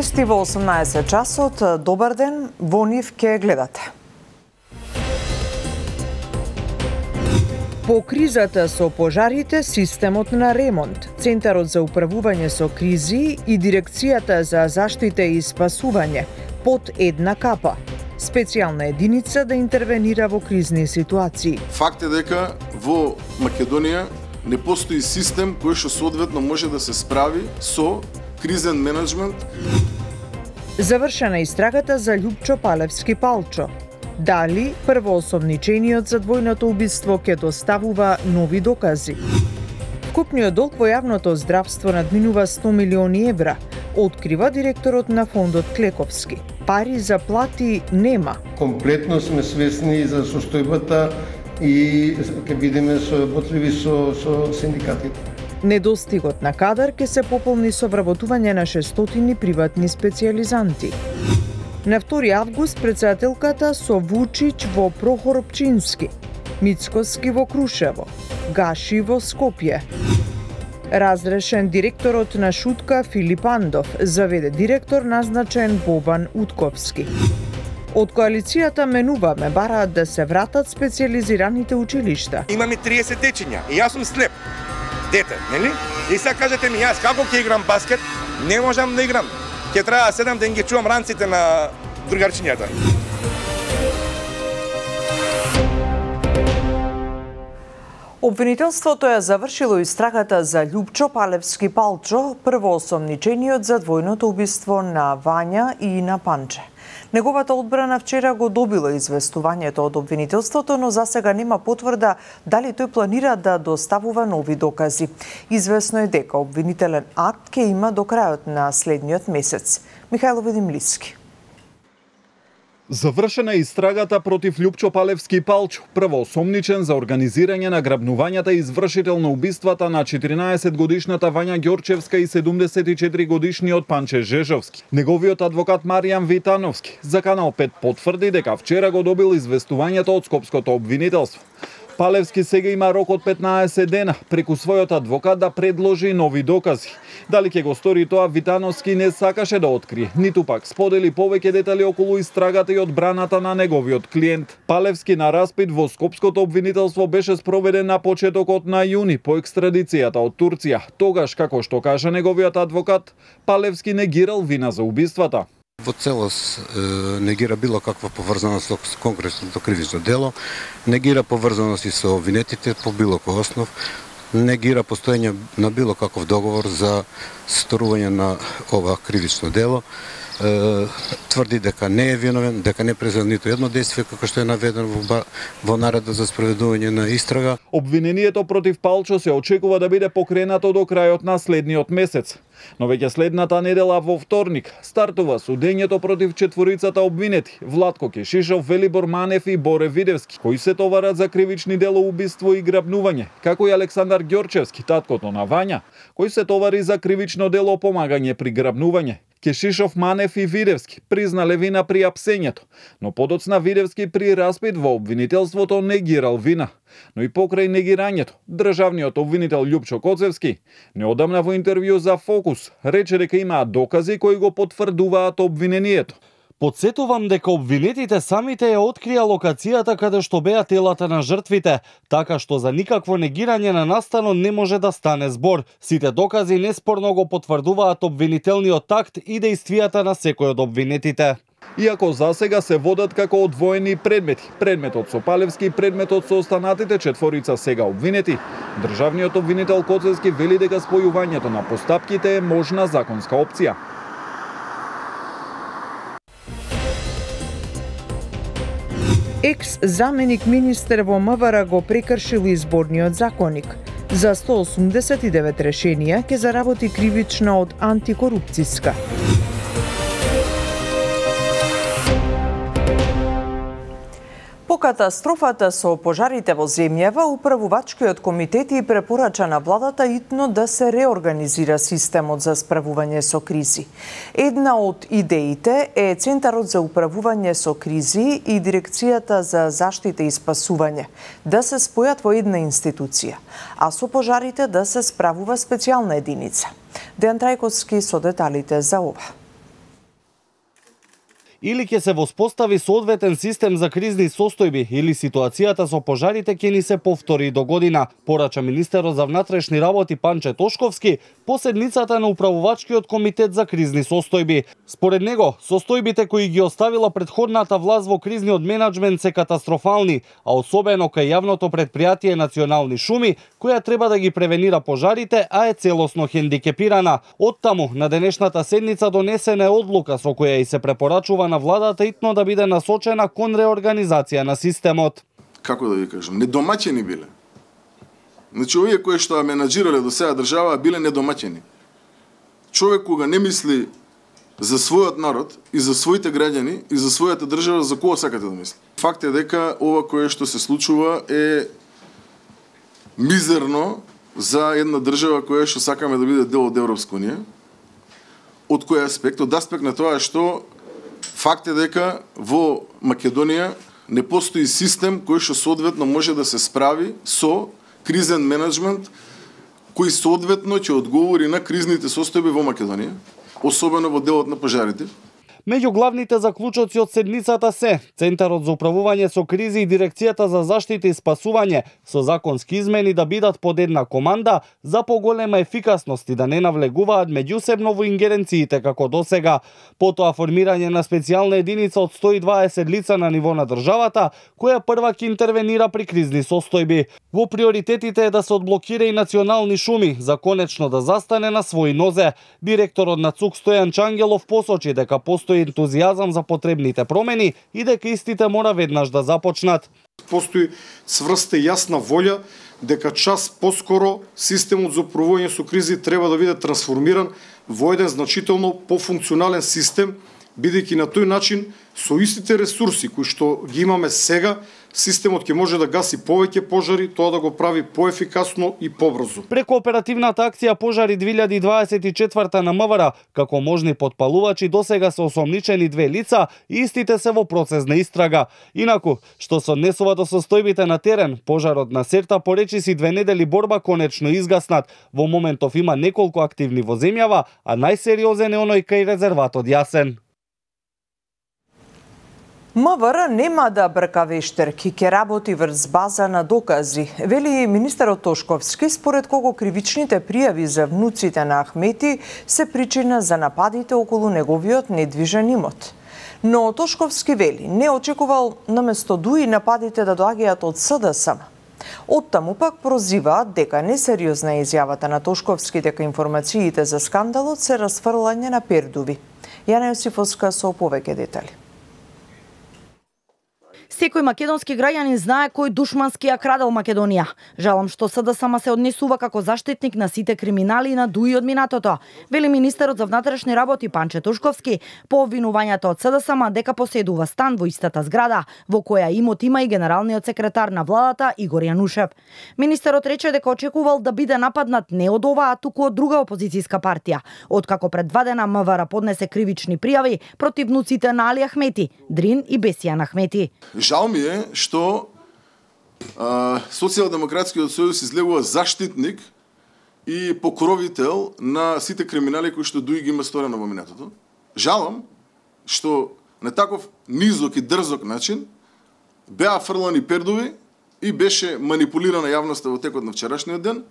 Вести во 18 часот. Добар ден, во нив ке гледате. По кризата со пожарите, системот на ремонт, Центарот за управување со кризи и Дирекцијата за заштита и спасување под една капа. Специјална единица да интервенира во кризни ситуации. Факт е дека во Македонија не постои систем кој што соодветно може да се справи со кризен менеджмент. Завршена истрагата за Љупчо Палевски Палчо. Дали првоосомничениот за двојното убиство ќе доставува нови докази? Вкупниот долг во јавното здравство надминува 100 милиони евра, открива директорот на фондот Клековски. Пари за плати нема. Комплетно сме свесни за состојбата и ќе бидеме соработливи со синдикатите. Недостигот на кадар ќе се пополни со вработување на 600 приватни специјализанти. На 2 август председателката со Вучич во Прохоропчински, Мицкоски во Крушево, Гаши во Скопје. Разрешен директорот на Шутка Филип Андов, заведе директор назначен Бобан Утковски. Од коалицијата менуваме бараат да се вратат специјализираните училишта. Имаме 30 дечиња и јас сум слеп дете, нели? И сега кажете ми јас како ќе играм баскет, не можам да играм. Ќе треба 7 ден ги чувам ранците на другарчињата. Обвинителството ја завршило истрагата за Љупчо Палевски Палчо, првоосомничениот за двојното убиство на Вања и на Панче. Неговата одбрана вчера го добила известувањето од обвинителството, но засега нема потврда дали тој планира да доставува нови докази. Известно е дека обвинителен акт ќе има до крајот на следниот месец. Михајло Ведимлиски. Завршена истрагата против Љупчо Палевски Палчо, првоосомничен за организирање на грабнувањата и извршител на убиствата на 14-годишната Вања Ѓорчевска и 74-годишниот Панче Жежовски. Неговиот адвокат Маријан Витановски за Канал 5 потврди дека вчера го добил известувањето од Скопското обвинителство. Палевски сега има рок од 15 дена преку својот адвокат да предложи нови докази. Дали ќе го стори тоа, Витановски не сакаше да открие, ниту пак сподели повеќе детали околу истрагата и одбраната на неговиот клиент. Палевски на распит во Скопското обвинителство беше спроведен на почетокот на јуни по екстрадицијата од Турција. Тогаш, како што кажа неговиот адвокат, Палевски негирал вина за убиствата. Во целост негира било каква поврзаност со конкретното кривично дело, негира поврзаност и со обвинетите по било кој основ, негира постоење на било каков договор за сторување на ова кривично дело, тврди дека не е виновен, дека не презел ниту едно действие како што е наведено во наредба за спроведување на истрага. Обвинението против Палчо се очекува да биде покренато до крајот на следниот месец. Но веќе следната недела во вторник стартува судењето против четворицата обвинети Владко Кешишов, Велибор Манев и Боре Видевски, кои се товарат за кривични дела убиство и грабнување, како и Александар Ѓорчевски, таткото на Вања, кој се товари за кривично дело помагање при грабнување. Кешишов, Манев и Видевски признале вина при апсењето, но подоцна Видевски при распит во обвинителството негирал вина. Но и покрај негирањето, државниот обвинител Љупчо Коцевски неодамна во интервју за Фокус рече дека имаат докази кои го потврдуваат обвинението. Подсетувам дека обвинетите самите ја открија локацијата каде што беа телата на жртвите, така што за никакво негирање на настанот не може да стане збор. Сите докази неспорно го потврдуваат обвинителниот акт и дејствијата на секој од обвинетите. Иако засега се водат како одвоени предмети, предметот со Палевски и предметот со останатите четворица сега обвинети, државниот обвинител Коцевски вели дека спојувањето на постапките е можна законска опција. Екс-заменик министер во МВР го прекршил изборниот законник. За 189 решенија ќе заработи кривична од антикорупцијска. По катастрофата со пожарите во земјава, управувачкиот комитет и препорача на владата итно да се реорганизира системот за справување со кризи. Една од идеите е Центарот за управување со кризи и Дирекцијата за заштита и спасување да се спојат во една институција, а со пожарите да се справува специјална единица. Дејан Трајковски со деталите за ова. или ќе се воспостави соодветен систем за кризни состојби, или ситуацијата со пожарите ќе ни се повтори до година, порача министерот за внатрешни работи Панче Тошковски по седницата на управувачкиот комитет за кризни состојби. Според него, состојбите кои ги оставила претходната власт во кризниот менаџмент се катастрофални, а особено кај јавното претпријатие Национални шуми, која треба да ги превенира пожарите, а е целосно хендикепирана. Оттаму, на денешната седница донесена е одлука со која и се препорачува на владата итно да биде насочена кон реорганизација на системот. Како да ви кажам, недомаќени биле. Значи, овие кои што ја менаџирале до сега држава биле недомаќени. Човек кога не мисли за својот народ и за своите граѓани и за својата држава, за кого сакате да мисли? Факт е дека ова кое што се случува е мизерно за една држава која што сакаме да биде дел од Европска унија. Од кој аспект? Од аспект на тоа што факт е дека во Македонија не постои систем кој што соодветно може да се справи со кризен менеджмент кој соодветно ќе одговори на кризните состојби во Македонија, особено во делот на пожарите. Меѓу главните заклучоци од седницата се Центарот за управување со кризи и Дирекцијата за заштита и спасување со законски измени да бидат под една команда за поголема ефикасност и да не навлегуваат меѓусебно во ингеренциите како досега. Потоа формирање на специјална единица од 120 лица на ниво на државата, која прва ќе интервенира при кризни состојби. Во приоритетите е да се одблокира и Национални шуми за конечно да застане на своји нозе. Директорот на ЦУК Стојан Чангелов посочи дека постои ентузијазам за потребните промени и дека истите мора веднаш да започнат. Постои цврста и јасна волја дека час поскоро системот за управување со кризи треба да биде трансформиран во еден значително пофункционален систем, бидејќи на тој начин со истите ресурси кои што ги имаме сега, системот ќе може да гаси повеќе пожари, тоа да го прави поефикасно и побрзо. Преку оперативната акција Пожари 2024 на МВР, како можни потпалувачи досега се осомничени 2 лица и истите се во процес на истрага. Инаку, што се однесува до состојбите на терен, пожарот на Серта поречиси 2 недели борба конечно изгаснат. Во моментов има неколку активни во земјава, а најсериозен е оној кај резерватот Јасен. МВР нема да брка вештерки, ќе работи врз база на докази, вели министерот Тошковски, според кого кривичните пријави за внуците на Ахмети се причина за нападите околу неговиот недвижен имот. Но Тошковски вели, не очекувал наместо ДУИ нападите да доаѓаат од СДСМ. Оттаму пак прозиваат дека несериозна е изјавата на Тошковски дека информациите за скандалот се расфрлање на пердуви. Јана Јосифовска со повеќе детали. Секој македонски граѓанин знае кој душмански ја крадел Македонија. Жалам што СДСМ се однесува како заштитник на сите криминали и на ДУИ од минатото, вели министерот за внатрешни работи Панче Тошковски по обвинувањата од СДСМ дека поседува стан во истата зграда, во која имот има и генералниот секретар на владата Игор Јанушев. Министерот рече дека очекувал да биде нападнат не од оваа, туку од друга опозицијска партија, откако пред 2 дена МВР поднесе кривични пријави против внуците на Али Ахмети, Дрин и Бесијан Ахмети. Жал ми е што Социјалдемократскиот сојуз излегува заштитник и покровител на сите криминали кои што ДУИ ги има сторено во минатото. Жалам што на таков низок и дрзок начин беа фрлани пердови и беше манипулирана јавноста во текот на вчерашниот ден.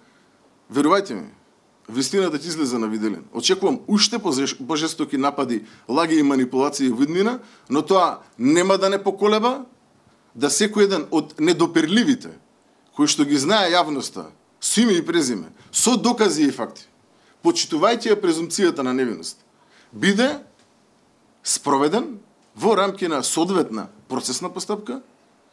Верувајте ми, вистината ќе излезе на виделин. Очекувам уште пожестоки напади, лаги и манипулации во иднина, но тоа нема да не поколеба да секој еден од недоперливите, кои што ги знае јавноста, со име и презиме, со докази и факти, почитувајќи ја презумцијата на невиност, биде спроведен во рамки на соодветна процесна постапка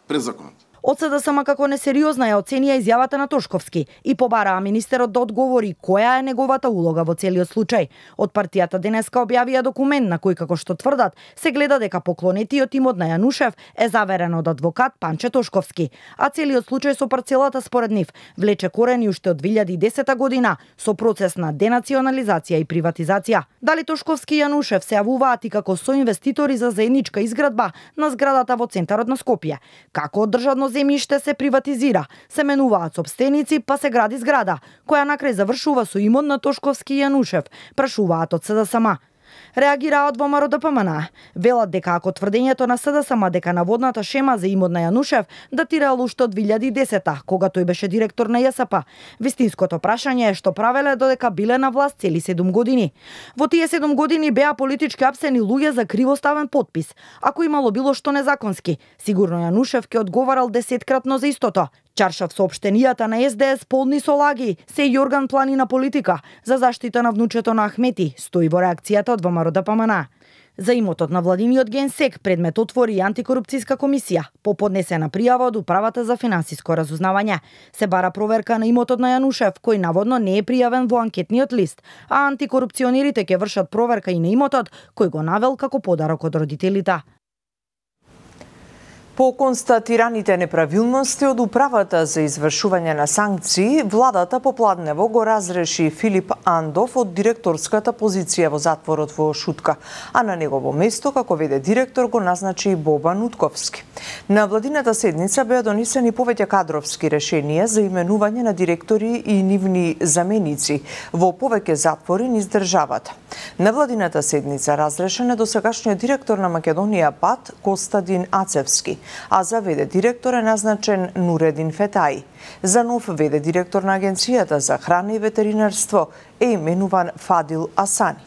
пред законот. Од СДСМ како несериозна ја оценија изјавата на Тошковски и побараа министерот да одговори која е неговата улога во целиот случај. Од партијата денеска објавија документ на кој, како што тврдат, се гледа дека поклонетиот имот на Јанушев е заверен од адвокат Панче Тошковски, а целиот случај со парцелата според нив влече корени уште од 2010 година со процес на денационализација и приватизација. Дали Тошковски и Јанушев се јавуваат и како соинвеститори за заедничка изградба на зградата во центарот на Скопје? Како од државно земјиште се приватизира, се менуваат сопстеници, па се гради зграда, која накрај завршува со имот на Тошковски и Јанушев, прашуваат од СДСМ. Реагираат во МРОДПМН. Велат дека ако тврдењето на СДСМ дека наводната шема за имот на Јанушев датирала уште од 2010-та, кога тој беше директор на ЈСП. Вистинското прашање е што правеле додека биле на власт цели 7 години. Во тие 7 години беа политички апсени луѓе за кривоставен потпис. Ако имало било што незаконски, сигурно Јанушев ќе одговарал 10-кратно за истото. Чаршав соопштенијата на СДС полни со лаги, се Јорган Планина политика за заштита на внучето на Ахмети, стои во реакцијата од МРОДПМН. За имотот на владиниот генсек предмет отвори и антикорупцијска комисија по поднесена пријава од Управата за финансиско разузнавање. Се бара проверка на имотот на Јанушев, кој наводно не е пријавен во анкетниот лист, а антикорупционерите ќе вршат проверка и на имотот кој го навел како подарок од родителите. По констатираните неправилности од Управата за извршување на санкции, владата попладнево го разреши Филип Андов од директорската позиција во затворот во Шутка, а на негово место како веде директор го назначи Бобан Утковски. На владината седница беа донесени повеќе кадровски решенија за именување на директори и нивни заменици во повеќе затвори низ државата. На владината седница разрешен е досегашниот директор на Македонија ПАТ Костадин Ацевски, а за веде директор е назначен Нуредин Фетаи. За нов веде директор на Агенцијата за храна и ветеринарство е именуван Фадил Асани.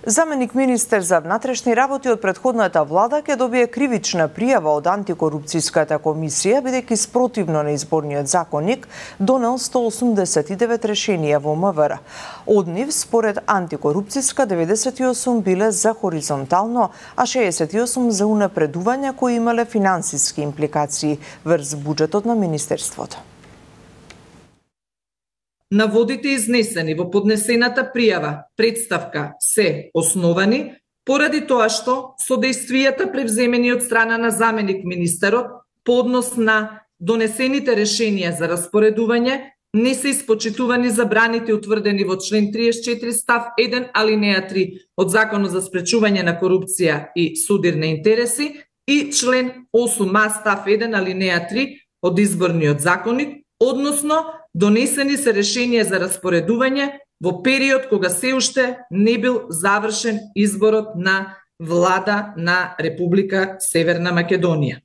Заменик министер за внатрешни работи од претходната влада ќе добие кривична пријава од антикорупцијската комисија, бидејќи спротивно на изборниот законник донел 189 решенија во МВР. Од нив, според антикорупцијска, 98 биле за хоризонтално, а 68 за унапредување кои имале финансиски импликации врз буџетот на министерството. Наводите изнесени во поднесената пријава представка се основани поради тоа што содействијата превземени од страна на заменик министерот по однос на донесените решенија за распоредување не се испочитувани забраните утврдени во член 34 став 1 алинеја 3 од Законот за спречување на корупција и судир на интереси и член 8а став 1 алинеја 3 од Изборниот законник, односно донесени се решенија за распоредување во период кога се уште не бил завршен изборот на влада на Република Северна Македонија.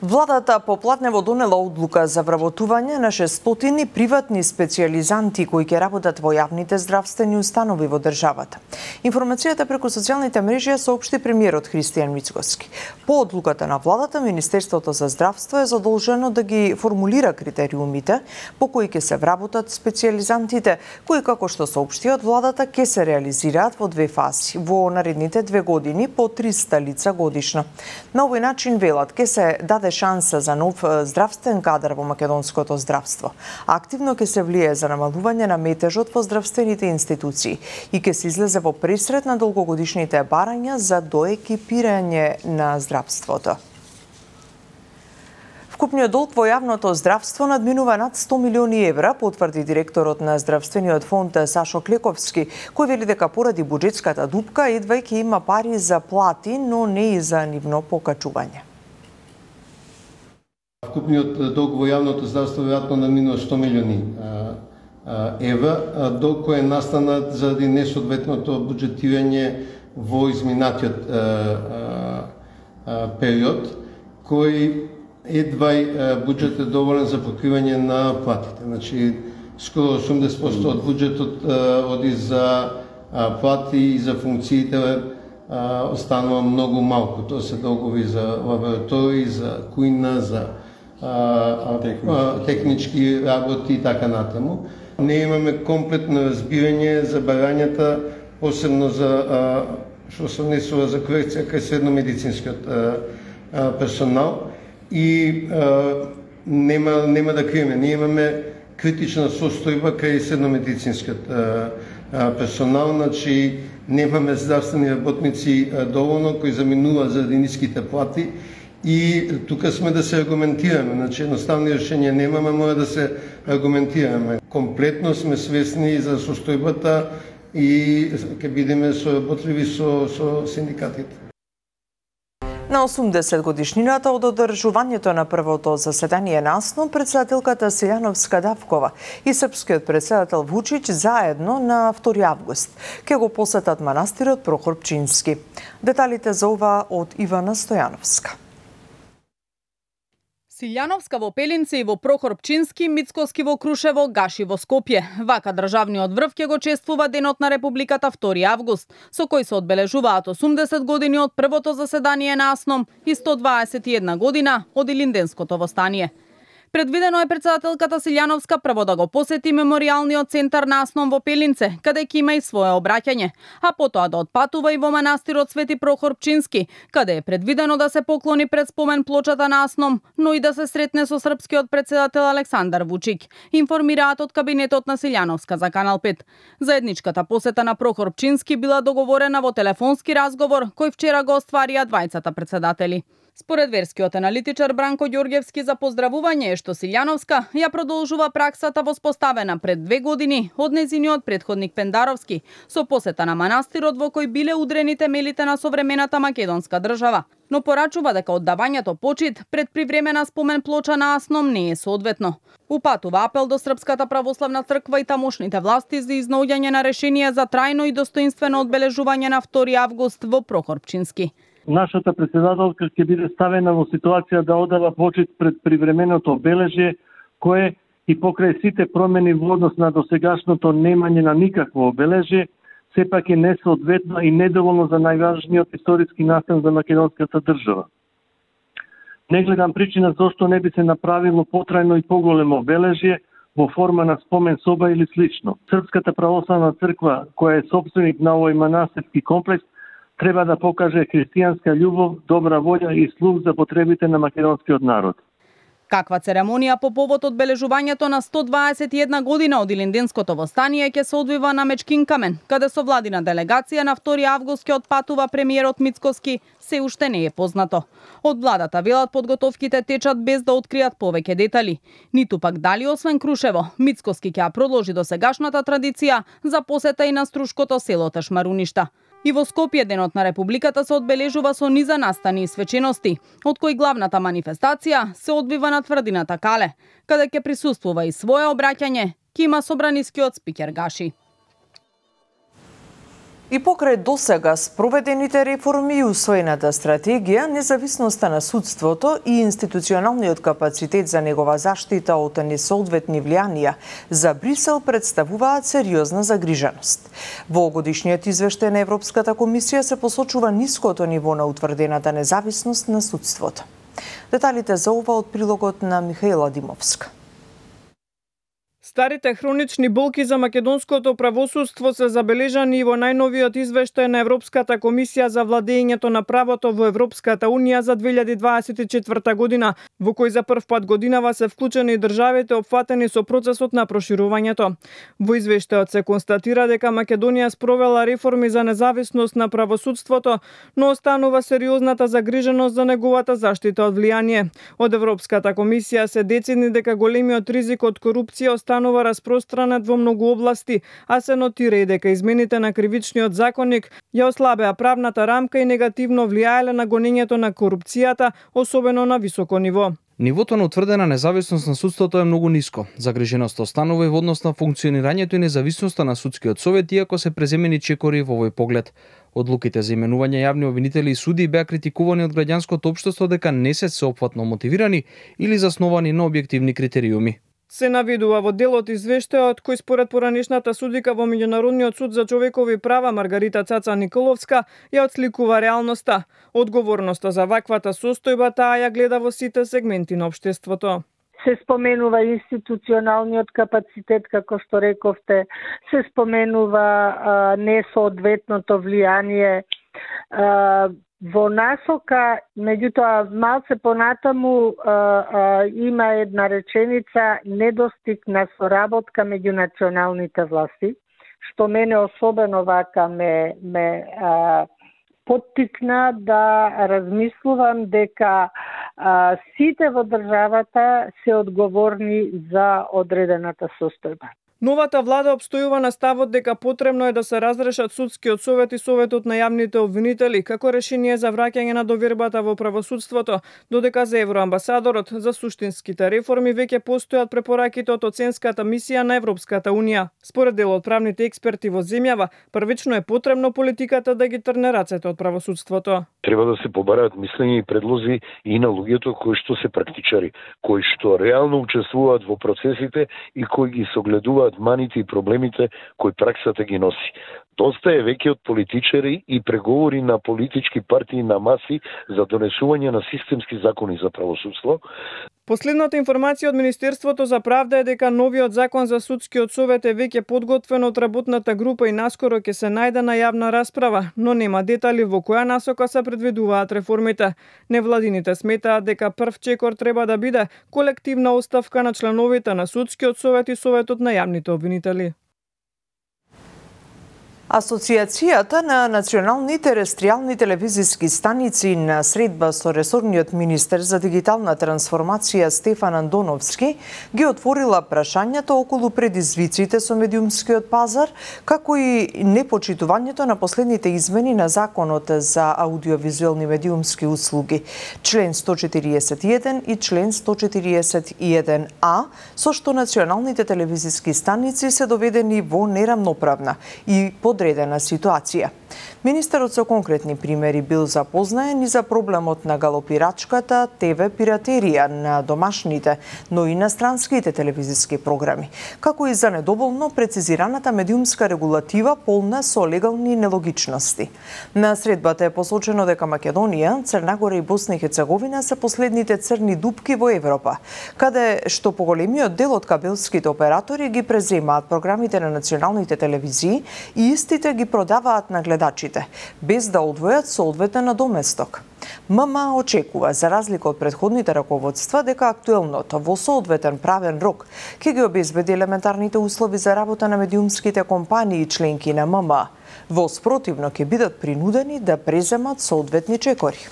Владата попладнево донела одлука за вработување на 600 приватни специјализанти кои ќе работат во јавните здравствени установи во државата. Информацијата преку социјалните мрежи соопшти премиерот Христијан Мицкоски. По одлуката на владата, Министерството за здравство е задолжено да ги формулира критериумите по кои ќе се вработат специјализантите, кои како што соопшти од владата ќе се реализираат во две фази во наредните 2 години по 300 лица годишно. На овој начин, велат, ќе се даде шанса за нов здравствен кадар во македонското здравство. Активно ќе се влие за намалување на метежот во здравствените институции и ќе се излезе во пресрет на долгогодишните барања за доекипирање на здравството. Вкупниот долг во јавното здравство надминува над 100 милиони евра, потврди директорот на здравствениот фонд Сашо Клековски, кој вели дека поради буџетската дупка едва ќе има пари за плати, но не и за нивно покачување. Вкупниот долг во јавното здравство веројатно надминува 100 милиони евра, долг кој е настанат заради несоодветното буџетирање во изминатиот период, кој едва буџет е доволен за покривање на платите. Значи, скоро 80% од буџетот оди за плати и за функциите останува многу малку. Тоа се долгови за лаборатории, за кујна, за технички работи и така натаму. Не имаме комплетно разбирање за барањата, посебно за што се однесува за корекција кај средномедицинскиот персонал и нема да криеме. Ние имаме критична состојба кај средномедицинскиот персонал, значи немаме здравствени работници доволно кои заминуваат заради ниските плати. И тука сме да се аргументираме, значи едноставни решенија немаме, мора да се аргументираме. Комплетно сме свесни за состојбата и ќе бидеме соработливи со синдикатите. На 80 годишнината од одржувањето на првото заседание на АСНО, председателката Силјановска-Давкова и српскиот председател Вучич заедно на 2 август ќе го посетат манастирот Прохор Пчински. Деталите за ова од Ивана Стојановска. Силјановска во Пелинце и во Прохор Пчински, Мицкоски во Крушево, Гаши во Скопје. Вака државниот врв ќе го чествува Денот на Републиката 2 август, со кој се одбележуваат 80 години од првото заседание на АСНОМ и 121 година од Илинденското востание. Предвидено е председателката Силјановска прво да го посети меморијалниот центар на АСНОМ во Пелинце, каде ќе има и свое обраќање, а потоа да отпатува и во манастирот Свети Прохор Пчински, каде е предвидено да се поклони пред спомен плочата на АСНОМ, но и да се сретне со српскиот председател Александар Вучик, информираат од кабинетот на Силјановска за Канал 5. Заедничката посета на Прохор Пчински била договорена во телефонски разговор, кој вчера го остварија двајцата председатели. Според верскиот аналитичар Бранко Ѓорѓевски за поздравување е што Силјановска ја продолжува праксата воспоставена пред 2 години од нејзиниот претходник Пендаровски, со посета на манастирот во кој биле удрени темелите на современата македонска држава, но порачува дека оддавањето почит пред привремена спомен плоча на АСНОМ не е соодветно. Упатува апел до Српската православна црква и тамошните власти за изнаоѓање на решение за трајно и достоинствено одбележување на 2 август во Прохор Пчински. Нашата председателка ќе биде ставена во ситуација да одава почит пред привременото обележје, кое и покрај сите промени во однос на досегашното немање на никакво обележје, сепак е несоодветно и недоволно за најважниот историски настан за македонската држава. Не гледам причина зошто не би се направило потрајно и поголемо обележје во форма на спомен соба или слично. Српската православна црква, која е сопственик на овој манастирски комплекс, треба да покаже христијанска љубов, добра волја и слух за потребите на македонскиот народ. Каква церемонија по повод одбележувањето на 121 година од Илинденското востание ќе се одвива на Мечкин камен, каде со владина делегација на 2 август ќе отпатува премиерот Мицкоски, се уште не е познато. Од владата велат подготовките течат без да откријат повеќе детали. Ниту пак дали освен Крушево, Мицкоски ќе ја продолжи досегашната традиција за посета и на струшкото село Ташмаруништа. И во Скопје Денот на Републиката се одбележува со низа настани и свечености, од кои главната манифестација се одвива на тврдината Кале, каде ќе присуствува и свое обраќање, ки има собранискиот спикер Гаши. И покрај досега спроведените реформи и усвоената стратегија, независноста на судството и институционалниот капацитет за негова заштита од несоодветни влијанија за Брисел представуваат сериозна загриженост. Во годишниот извештај на Европската комисија се посочува ниското ниво на утврдената независност на судството. Деталите за ова од прилогот на Михаила Димовска. Старите хронични болки за македонското правосудство се забележани и во најновиот извештај на Европската комисија за владењето на правото во Европската Унија за 2024 година, во кој за прв пат годинава се вклучени и државите опфатени со процесот на проширувањето. Во извештајот се констатира дека Македонија спровела реформи за независност на правосудството, но останува сериозната загриженост за неговата заштита од влијание. Од Европската комисија се децидни дека големиот ризик од корупција останува распространет во многу области, а се нотира и дека измените на кривичниот законник ја ослабеа правната рамка и негативно влијаеле на гонењето на корупцијата, особено на високо ниво. Нивото на утврдена независност на судството е многу ниско. Загриженоста останува и во однос на функционирањето и независноста на судскиот совет, иако се преземени чекори во овој поглед. Одлуките за именување јавни обвинители и суди беа критикувани од граѓанското општество дека не се сеопфатно мотивирани или засновани на објективни критериуми. Се наведува во делот извештајот кој според поранешната судика во Меѓународниот суд за човекови права Маргарита Цаца Николовска ја отсликува реалноста. Одговорноста за ваквата состојба таа ја гледа во сите сегменти на општеството. Се споменува институционалниот капацитет, како што рековте, се споменува несоодветното влијание во насока, меѓутоа малце понатаму има една реченица недостиг на соработка меѓу националните власти, што мене особено вака ме поттикна да размислувам дека сите во државата се одговорни за одредената состојба. Новата влада обстојува на ставот дека потребно е да се разрешат судскиот совет и советот на јавните обвинители како решение за враќање на довербата во правосудството, додека за евроамбасадорот за суштинските реформи веќе постојат препораките од оценската мисија на Европската унија. Според дел од правните експерти во земјава, првично е потребно политиката да ги трне рацете од правосудството. Треба да се побараат мислења и предлози и на луѓето кои што се практичари, кои што реално учествуваат во процесите и кои ги согледуваат маните и проблемите кои праксата ги носи. Доста е веќе од политичари и преговори на политички партии на маси за донесување на системски закони за правосудство. Последната информација од Министерството за правда е дека новиот закон за судскиот совет е веќе подготвен од работната група и наскоро ќе се најде на јавна расправа, но нема детали во која насока се предвидуваат реформите. Невладините сметаат дека прв чекор треба да биде колективна оставка на членовите на судскиот совет и советот на јавните обвинители. Асоциацијата на национални терестријални телевизиски станици на средба со ресорниот министер за дигитална трансформација Стефан Андоновски ги отворила прашањата околу предизвиците со медиумскиот пазар, како и непочитувањето на последните измени на Законот за аудиовизуелни медиумски услуги, член 141 и член 141А, со што националните телевизиски станици се доведени во нерамноправна и подредена ситуација. Министерот со конкретни примери бил запознаен и за проблемот на галопирачката ТВ пиратерија на домашните, но и на странските телевизиски програми, како и за недоволно прецизираната медиумска регулатива полна со легални нелогичности. На средбата е посочено дека Македонија, Црна Гора и Босна и Херцеговина се последните црни дупки во Европа, каде што поголемиот дел од кабелските оператори ги преземаат програмите на националните телевизии и истите ги продаваат на гледачите, без да одвојат соодветен надоместок. ММА очекува, за разлика од претходните раководства, дека актуелното во соодветен правен рок ќе ги обезбеди елементарните услови за работа на медиумските компании и членки на ММА. Во спротивно ќе бидат принудени да преземат соодветни чекори.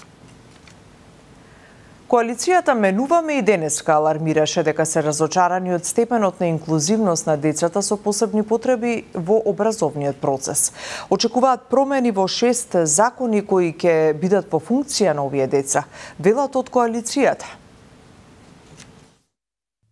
Коалицијата Менуваме и денеска алармираше дека се разочарани од степенот на инклузивност на децата со посебни потреби во образовниот процес. Очекуваат промени во 6 закони кои ќе бидат по функција на овие деца, велат од коалицијата.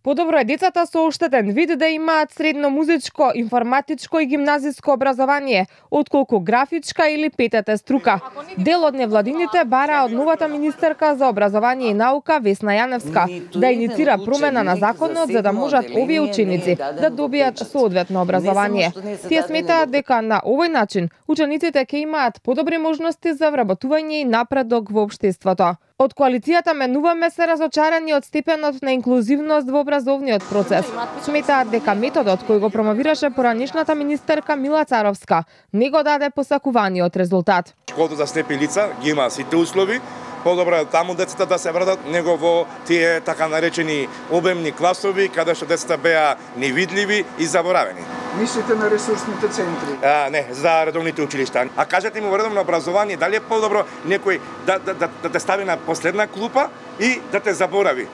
Подобро е децата со оштетен вид да имаат средно музичко, информатичко и гимназиско образование, отколку графичка или ПТТ струка. Дел од невладините бара од новата министерка за образование и наука Весна Јаневска да иницира промена на законот за да можат овие ученици да добијат соодветно образование. Тие сметаат дека на овој начин учениците ќе имаат подобри можности за вработување и напредок во општеството. Од коалицијата Менуваме се разочарани од степенот на инклузивност во образовниот процес. Сметаат дека методот кој го промовираше поранешната министерка Мила Царовска не го даде посакуваниот резултат. Школата за слепи лица ги има сите услови, подобро е таму децата да се вратат, него во тие така наречени обемни класови, каде што децата беа невидливи и заборавени. Мислите на ресурсните центри? Не, за редовните училишта. А кажете ми во редовно образование, дали е подобро некој да те стави на последна клупа и да те заборави?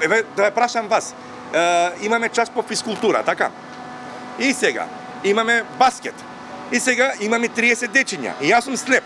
Еве, да ја прашам вас. Имаме час по физкултура, така? И сега имаме баскет. И сега имаме 30 дечиња. И јас сум слеп.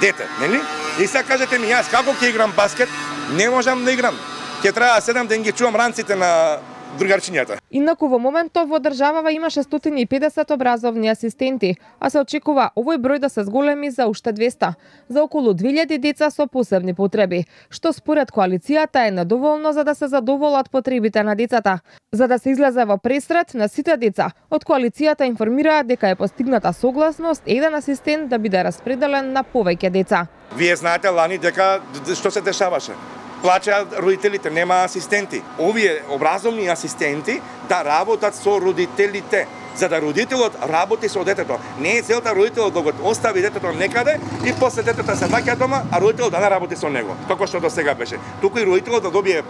Дете, нели? И сега кажете ми, јас како ќе играм баскет, не можам да играм. Ќе треба 7 ден ги чувам ранците на другарчињата. Инаку во моментов во државава има 650 образовни асистенти, а се очекува овој број да се зголеми за уште 200, за околу 2000 деца со посебни потреби, што според коалицијата е недоволно за да се задоволат потребите на децата. За да се излезе во пресрет на сите деца, од коалицијата информираат дека е постигната согласност еден асистент да биде распределен на повеќе деца. Вие знаете лани дека што се дешаваше? Плачаат родителите, нема асистенти. Овие образовни асистенти да работат со родителите. за да родителот работи со детето. Не е целта родителот да го остави детето некаде и после детето се враќа дома, а родителот да не работи со него, како што до сега беше. Туку и родителот да добие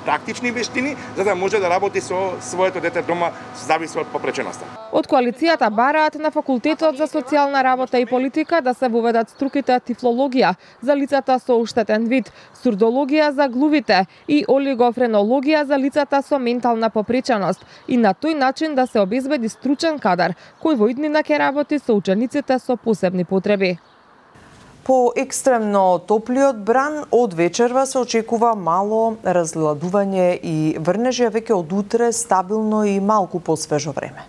практични вештини за да може да работи со своето дете дома, зависи од попреченоста. Од коалицијата бараат на Факултетот за социјална работа и политика да се воведат струките тифлологија за лицата со оштетен вид, сурдологија за глувите и олигофренологија за лицата со ментална попреченост и на тој начин да се обезбеди стручен кадар кој во иднина ќе работи со учениците со посебни потреби. По екстремно топлиот бран од вечерва се очекува мало разладување и врнежи, веќе од утре стабилно и малку посвежо време.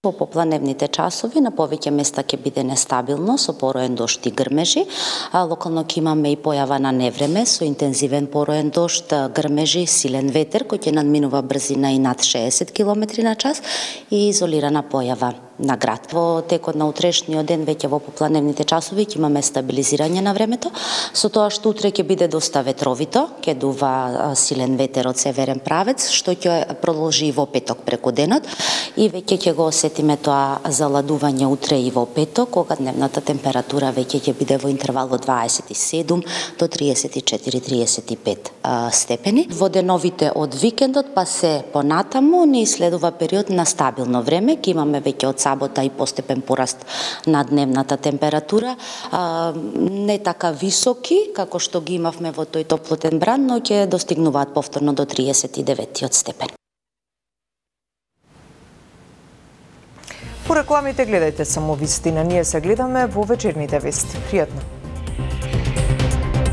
Во попладневните часови на повеќе места ќе биде нестабилно со пороен дожд и грмежи, а локално ќе имаме и појава на невреме со интензивен пороен дожд, грмежи, силен ветер кој ќе надминува брзина и над 60 км на час и изолирана појава на град. Во текот на утрешниот ден веќе во попладневните часови ќе имаме стабилизирање на времето, со тоа што утре ќе биде доста ветровито, ќе дува силен ветер од северен правец, што ќе продолжи и во петок преку денот и веќе ќе го осетиме тоа заладување утре и во петок, кога дневната температура веќе ќе биде во интервал од 27 до 34-35 степени. Во деновите од викендот па се понатаму ни следува период на стабилно време, ќе имаме веќе од сабота и постепен пораст на дневната температура, не така високи како што ги имавме во тој топлотен бран, но ќе достигнуваат повторно до 39 степен. По рекламите гледајте само вистина, ние се гледаме во вечерните вести. Пријатно.